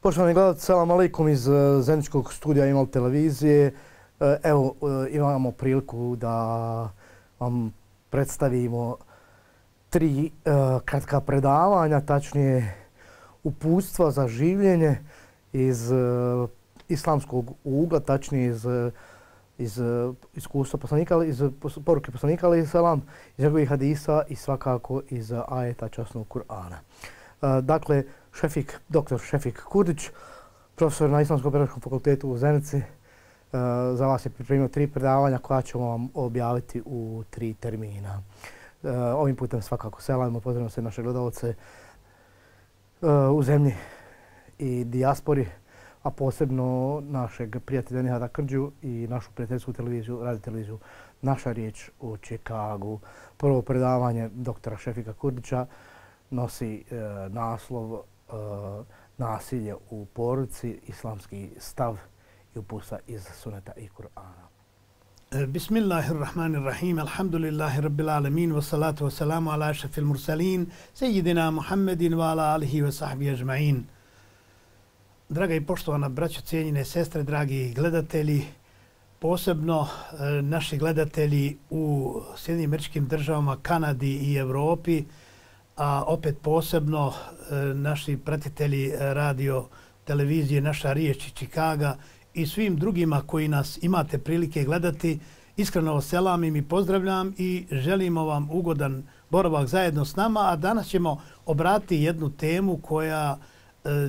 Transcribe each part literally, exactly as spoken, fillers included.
Poštovani gledalci, salam alaikum iz Zeničkog studija Imal televizije. Evo, imamo priliku da vam predstavimo tri kratka predavanja, tačnije uputstva za življenje iz islamskog ugla, tačnije iz iz iskustva poslanika, iz poruke poslanika alejhi selam, iz njegovih hadisa i svakako iz ajeta časnog Kur'ana. Dakle, Šefik, doktor Šefik Kurdić, profesor na Islamskom pedagoškom fakultetu u Zenici, za vas je pripremio tri predavanja koja ćemo vam objaviti u tri termina. Ovim putem svakako selamimo, pozdravimo se naše gledalce u zemlji i dijaspori, a posebno našeg prijatelja Nihada Krđu i našu prijateljsku televiziju, radio televiziju Naša riječ u Čikagu. Prvo predavanje doktora Šefika Kurdića nosi e, naslov e, Nasilje u porodici, islamski stav i uputstva iz Suneta i Kur'ana. Bismillahirrahmanirrahim. Alhamdulillahi rabbil alamin wa salatu wa salamu ala ašrafil mursalin sejidina Muhammedin wa ala alihi wa sahbihi ajma'in. Draga i poštovana braćo, cijenjene sestre, dragi gledatelji, posebno e, naši gledatelji u Sjedinjenim Američkim Državama, Kanadi i Evropi, a opet posebno e, naši pratitelji radio televizije Naša riječ iz Čikaga i svim drugima koji nas imate prilike gledati. Iskreno vas selamim i pozdravljam i želimo vam ugodan boravak zajedno s nama, a danas ćemo obratiti jednu temu koja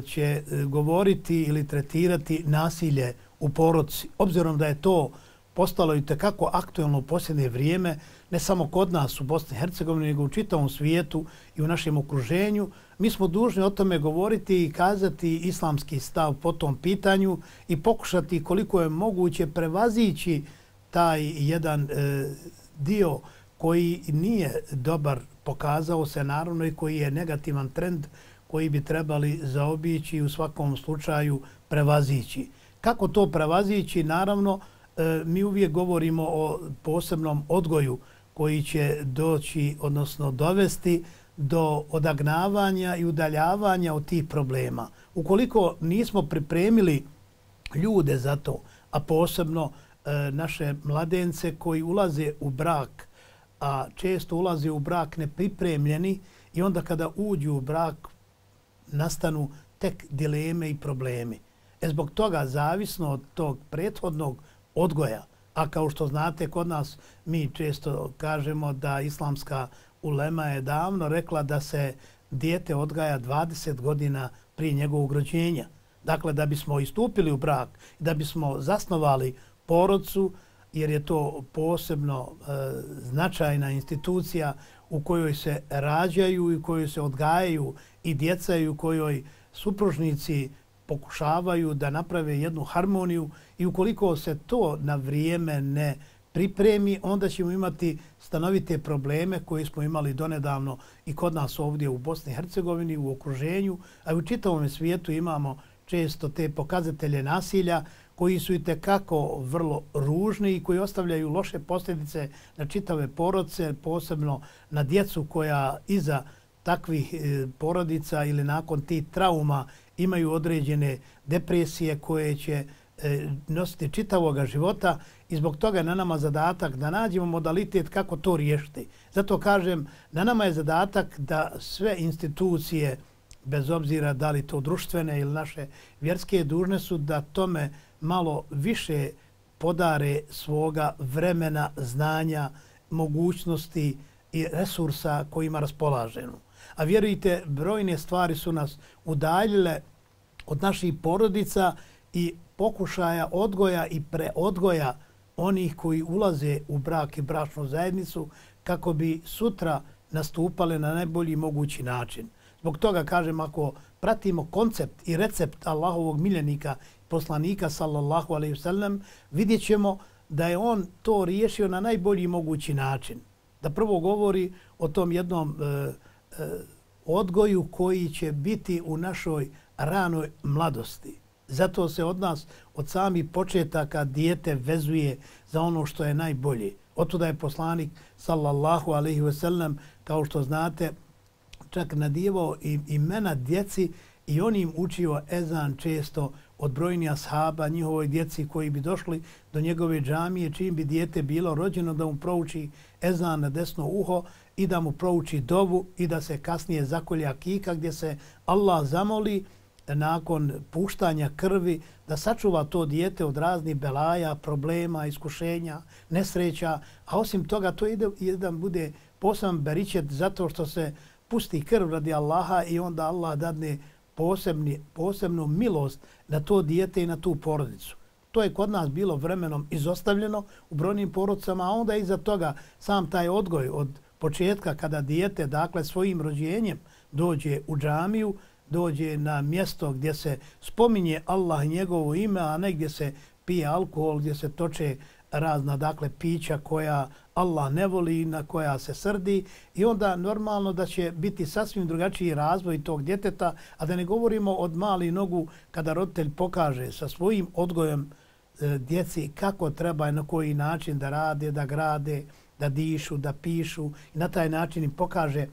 će govoriti ili tretirati nasilje u porodici. Obzirom da je to postalo i tekako aktuelno u posljednje vrijeme, ne samo kod nas u Bosni i Hercegovini, nego u čitavom svijetu i u našem okruženju, mi smo dužni o tome govoriti i kazati islamski stav po tom pitanju i pokušati koliko je moguće prevazići taj jedan e, dio koji nije dobar, pokazao se naravno, i koji je negativan trend koji bi trebali zaobići i u svakom slučaju prevazići. Kako to prevazići? Naravno, mi uvijek govorimo o posebnom odgoju koji će doći, odnosno dovesti do odagnavanja i udaljavanja od tih problema. Ukoliko nismo pripremili ljude za to, a posebno naše mladence koji ulaze u brak, a često ulaze u brak nepripremljeni i onda kada uđu u brak nastanu tek dileme i problemi. E zbog toga, zavisno od tog prethodnog odgoja, a kao što znate kod nas mi često kažemo da islamska ulema je davno rekla da se dijete odgaja dvadeset godina prije njegovog rođenja. Dakle, da bismo istupili u brak, da bismo zasnovali porodcu, jer je to posebno e, značajna institucija u kojoj se rađaju i u kojoj se odgajaju i djeca i u kojoj supružnici pokušavaju da naprave jednu harmoniju, i ukoliko se to na vrijeme ne pripremi, onda ćemo imati stanovite probleme koje smo imali donedavno i kod nas ovdje u Bosni i Hercegovini, u okruženju, a u čitavom svijetu imamo često te pokazatelje nasilja koji su i tekako vrlo ružni i koji ostavljaju loše posljedice na čitave porodice, posebno na djecu koja iza takvih porodica ili nakon tih trauma imaju određene depresije koje će nositi čitavoga života, i zbog toga je na nama zadatak da nađemo modalitet kako to riješiti. Zato kažem, na nama je zadatak da sve institucije, bez obzira da li to društvene ili naše vjerske, dužne su da tome malo više podare svoga vremena, znanja, mogućnosti i resursa kojima raspolažemo. A vjerujte, brojne stvari su nas udaljile od naših porodica i pokušaja odgoja i preodgoja onih koji ulaze u brak i bračnu zajednicu kako bi sutra nastupale na najbolji mogući način. Zbog toga kažem, ako pratimo koncept i recept Allahovog miljenika, poslanika sallallahu alejhi ve sellem, vidjet ćemo da je on to riješio na najbolji mogući način. Da prvo govori o tom jednom e, e, odgoju koji će biti u našoj ranoj mladosti. Zato se od nas, od samih početaka, dijete vezuje za ono što je najbolje. Otuda je poslanik sallallahu alejhi ve sellem, kao što znate, čak nadijevao imena djeci i on im učio ezan često od brojnih ashaba, njihovoj djeci koji bi došli do njegove džamije, čim bi dijete bilo rođeno, da mu prouči ezan na desno uho i da mu prouči dovu i da se kasnije zakolje akika gdje se Allah zamoli nakon puštanja krvi da sačuva to dijete od raznih belaja, problema, iskušenja, nesreća, a osim toga to ide jedan bude poseban beričet zato što se pusti krv radi Allaha i onda Allah dadne posebni, posebnu milost na to dijete i na tu porodicu. To je kod nas bilo vremenom izostavljeno u brojnim porodicama, a onda iza toga sam taj odgoj od početka kada dijete, dakle svojim rođenjem dođe u džamiju, dođe na mjesto gdje se spominje Allah i njegovo ime, a ne gdje se pije alkohol, gdje se toče razna, dakle, pića koja Allah ne voli, na koja se srdi i onda normalno da će biti sasvim drugačiji razvoj tog djeteta, a da ne govorimo od mali nogu kada roditelj pokaže sa svojim odgojem e, djeci kako treba i na koji način da rade, da grade, da dišu, da pišu i na taj način im pokaže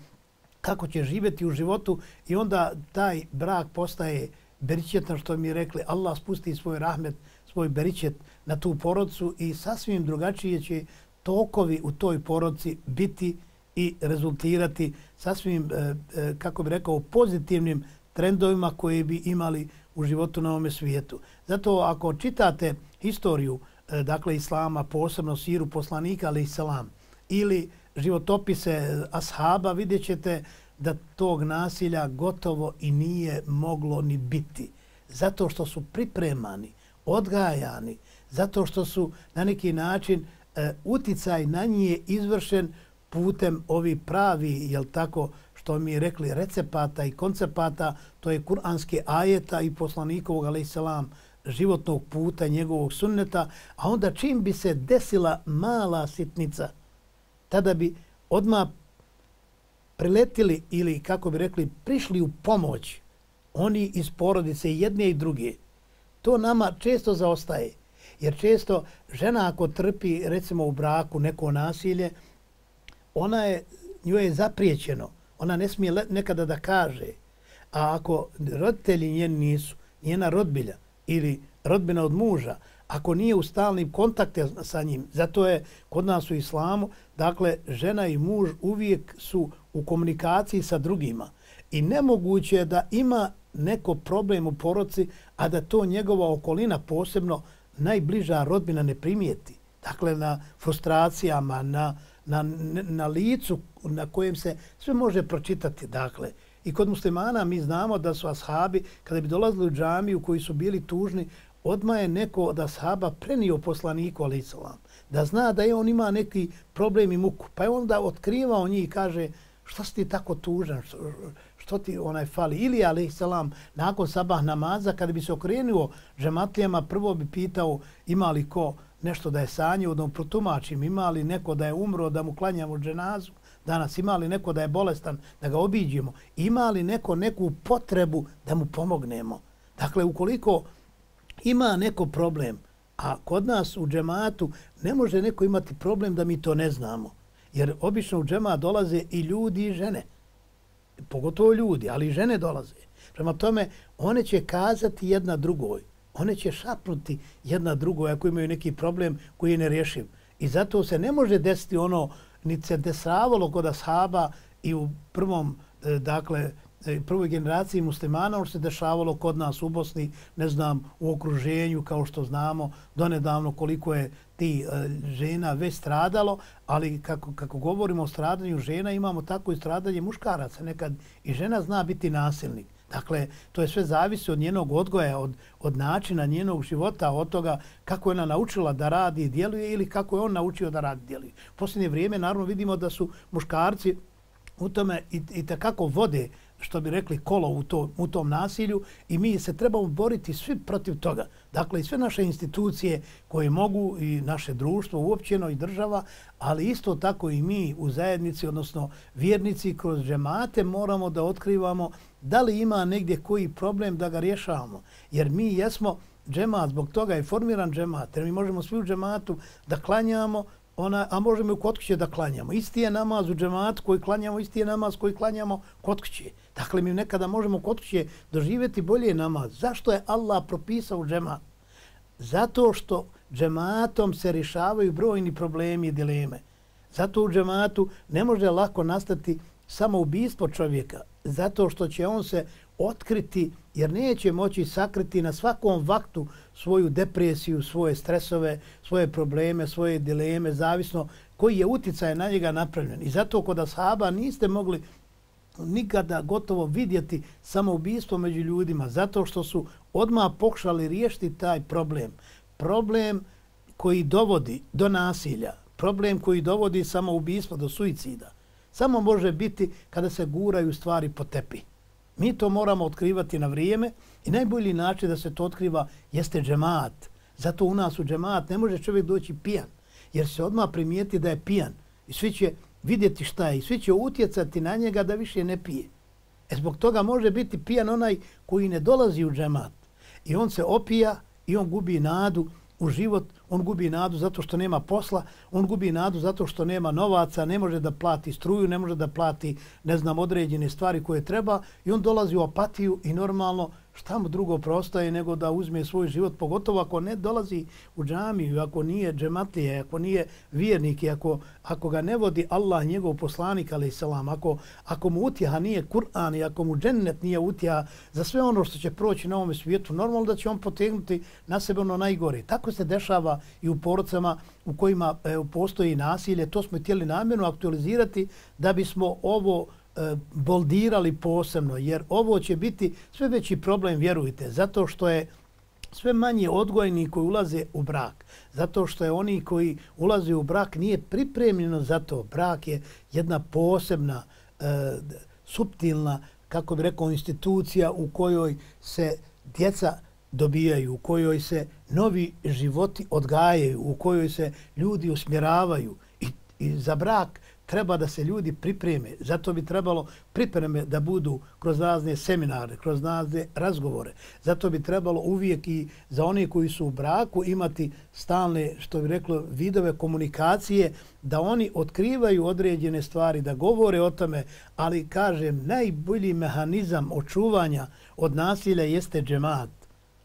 kako će živjeti u životu i onda taj brak postaje beričetan, što mi rekli, Allah spusti svoj rahmet, svoj beričet na tu porodicu i sasvim drugačije će tokovi u toj porodici biti i rezultirati sasvim, e, kako bi rekao, pozitivnim trendovima koje bi imali u životu na ovome svijetu. Zato ako čitate historiju, e, dakle, Islama, posebno siru poslanika, ali Islam, ili životopise ashaba, vidjet ćete da tog nasilja gotovo i nije moglo ni biti. Zato što su pripremani, odgajani, zato što su na neki način e, uticaj na njih izvršen putem ovi pravi, jel tako, što mi rekli, recepata i koncepata, to je kuranske ajeta i poslanikovog, alaih selam, životnog puta, njegovog sunneta, a onda čim bi se desila mala sitnica, tada bi odmah priletili ili, kako bi rekli, prišli u pomoć oni iz porodice jedne i druge. To nama često zaostaje. Jer često žena ako trpi, recimo u braku, neko nasilje, ona je, njoj je zapriječeno. Ona ne smije nekada da kaže. A ako roditelji njeni nisu, njena rodbilja ili rodbina od muža, ako nije u stalnim kontakte sa njim, zato je kod nas u islamu, dakle, žena i muž uvijek su u komunikaciji sa drugima. I nemoguće je da ima neko problem u porodici, a da to njegova okolina, posebno najbliža rodbina, ne primijeti. Dakle, na frustracijama, na, na, na licu na kojem se sve može pročitati. Dakle, i kod muslimana mi znamo da su ashabi, kada bi dolazili u džamiju koji su bili tužni, odmah je neko od ashaba prenio poslaniku, alaih salam, da zna da je on ima neki problem i muku. Pa je onda otkrivao njih i kaže, što si ti tako tužan, što, što ti onaj fali? Ili, alaih salam, nakon sabah namaza, kada bi se okrenuo džematlijama, prvo bi pitao ima li ko nešto da je sanjio, da mu protumačim, ima li neko da je umro, da mu klanjamo dženazu, danas ima li neko da je bolestan, da ga obiđemo, ima li neko neku potrebu da mu pomognemo. Dakle, ukoliko ima neko problem, a kod nas u džematu ne može neko imati problem da mi to ne znamo. Jer obično u džemat dolaze i ljudi i žene. Pogotovo ljudi, ali i žene dolaze. Prema tome, one će kazati jedna drugoj. One će šapnuti jedna drugoj ako imaju neki problem koji je nerješiv. I zato se ne može desiti ono, ni se desavalo kod ashaba i u prvom, dakle, prvoj generaciji muslimana, ono se dešavalo kod nas u Bosni, ne znam, u okruženju, kao što znamo, donedavno koliko je ti e, žena već stradalo, ali kako, kako govorimo o stradanju žena, imamo tako i stradanje muškaraca. Nekad i žena zna biti nasilnik. Dakle, to je sve zavisi od njenog odgoja, od, od načina njenog života, od toga kako je ona naučila da radi i djeluje ili kako je on naučio da radi i djeluje. U posljednje vrijeme, naravno, vidimo da su muškarci u tome i, i takako vode, što bi rekli, kolo u, to, u tom nasilju i mi se trebamo boriti svi protiv toga. Dakle, i sve naše institucije koje mogu i naše društvo uopćeno i država, ali isto tako i mi u zajednici, odnosno vjernici kroz džemate moramo da otkrivamo da li ima negdje koji problem da ga rješavamo. Jer mi jesmo džemat, zbog toga je formiran džemat, jer mi možemo svi u džematu da klanjamo ona, a možemo i kod kuće da klanjamo. Isti je namaz u džematu koji klanjamo, isti je namaz koji klanjamo kod kuće. Dakle, mi nekada možemo kod kuće doživjeti bolje namaz. Zašto je Allah propisao džemat? Zato što džematom se rješavaju brojni problemi i dileme. Zato u džematu ne može lako nastati samoubistvo čovjeka. Zato što će on se otkriti jer neće moći sakriti na svakom vaktu svoju depresiju, svoje stresove, svoje probleme, svoje dileme, zavisno koji je uticaj na njega napravljen. I zato kod ashaba niste mogli nikada gotovo vidjeti samoubistvo među ljudima, zato što su odmah pokušali riješiti taj problem. Problem koji dovodi do nasilja, problem koji dovodi samoubistvo, do suicida, samo može biti kada se guraju stvari po tepih. Mi to moramo otkrivati na vrijeme i najbolji način da se to otkriva jeste džemat. Zato u nas u džemat ne može čovjek doći pijan, jer se odmah primijeti da je pijan i svi će vidjeti šta je i svi će utjecati na njega da više ne pije. E zbog toga može biti pijan onaj koji ne dolazi u džemat i on se opija i on gubi nadu u život, on gubi nadu zato što nema posla, on gubi nadu zato što nema novaca, ne može da plati struju, ne može da plati, ne znam, određene stvari koje treba i on dolazi u apatiju i normalno šta mu drugo prostaje nego da uzme svoj život, pogotovo ako ne dolazi u džamiju, ako nije džematlije, ako nije vjernik i ako, ako ga ne vodi Allah, njegov poslanik, alaih salam, ako, ako mu utjeha nije Kur'an i ako mu džennet nije utjeha za sve ono što će proći na ovom svijetu, normalno da će on potegnuti na sebe ono najgore. Tako se dešava i u porodcama u kojima e, postoji nasilje. To smo htjeli namjerno aktualizirati da bismo ovo boldirali posebno, jer ovo će biti sve veći problem, vjerujte, zato što je sve manje odgojni koji ulaze u brak, zato što je oni koji ulaze u brak nije pripremljeno za to. Brak je jedna posebna, e, suptilna, kako bi rekao, institucija u kojoj se djeca dobijaju, u kojoj se novi životi odgajaju, u kojoj se ljudi usmjeravaju i, i za brak treba da se ljudi pripreme. Zato bi trebalo pripreme da budu kroz razne seminare, kroz razne razgovore. Zato bi trebalo uvijek i za one koji su u braku imati stalne, što bi reklo, vidove komunikacije, da oni otkrivaju određene stvari, da govore o tome, ali kažem, najbolji mehanizam očuvanja od nasilja jeste džemat.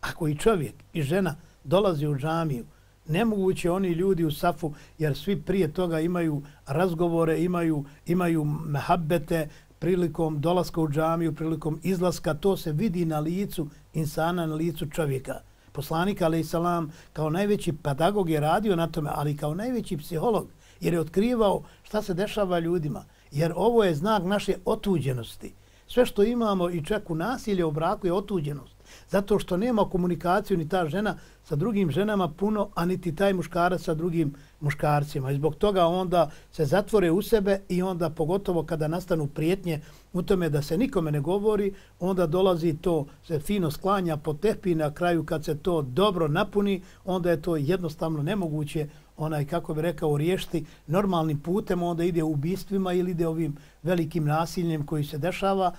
Ako i čovjek i žena dolazi u džamiju, nemoguće oni ljudi u safu, jer svi prije toga imaju razgovore, imaju, imaju mehabbete prilikom dolaska u džamiju, prilikom izlaska. To se vidi na licu insana, na licu čovjeka. Poslanik, alaih salam, kao najveći pedagog je radio na tome, ali kao najveći psiholog, jer je otkrivao šta se dešava ljudima. Jer ovo je znak naše otuđenosti. Sve što imamo i čak u nasilje u braku je otuđenost. Zato što nema komunikaciju ni ta žena sa drugim ženama puno, a niti taj muškarac sa drugim muškarcima. I zbog toga onda se zatvore u sebe i onda pogotovo kada nastanu prijetnje u tome da se nikome ne govori, onda dolazi to, se fino sklanja po tepi, na kraju kad se to dobro napuni, onda je to jednostavno nemoguće, onaj, kako bi rekao, riješiti normalnim putem, onda ide u ubistvima ili ide ovim velikim nasiljem koji se dešava.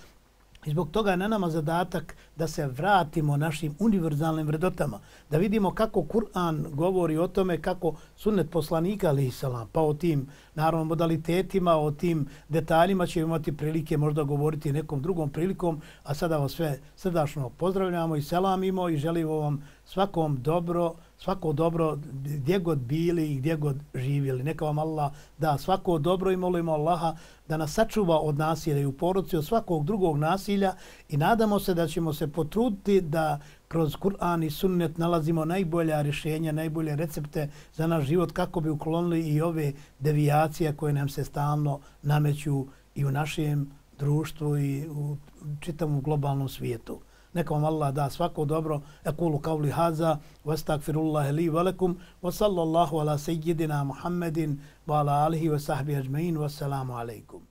I zbog toga je na nama zadatak da se vratimo našim univerzalnim vrednotama, da vidimo kako Kur'an govori o tome, kako sunnet poslanika, alaih salam, pa o tim, naravno, modalitetima, o tim detaljima ćemo imati prilike možda govoriti nekom drugom prilikom, a sada vas sve srdačno pozdravljamo i selamimo i želimo vam svakom dobro, svako dobro gdje god bili i gdje god živjeli. Neka vam Allah da svako dobro i molimo Allaha da nas sačuva od nasilja i u porodici, od svakog drugog nasilja i nadamo se da ćemo se potruditi da kroz Kur'an i sunnet nalazimo najbolja rješenja, najbolje recepte za naš život kako bi uklonili i ove devijacije koje nam se stalno nameću i u našem društvu i u čitavom globalnom svijetu. Neka vam Allah da svako dobro. Ekulu kavli haza, wa astagfirullahi li velekum, wa sallallahu ala sejidina Muhammedin, wa ala alihi wa sahbihi ajma'in, wa salamu alaikum.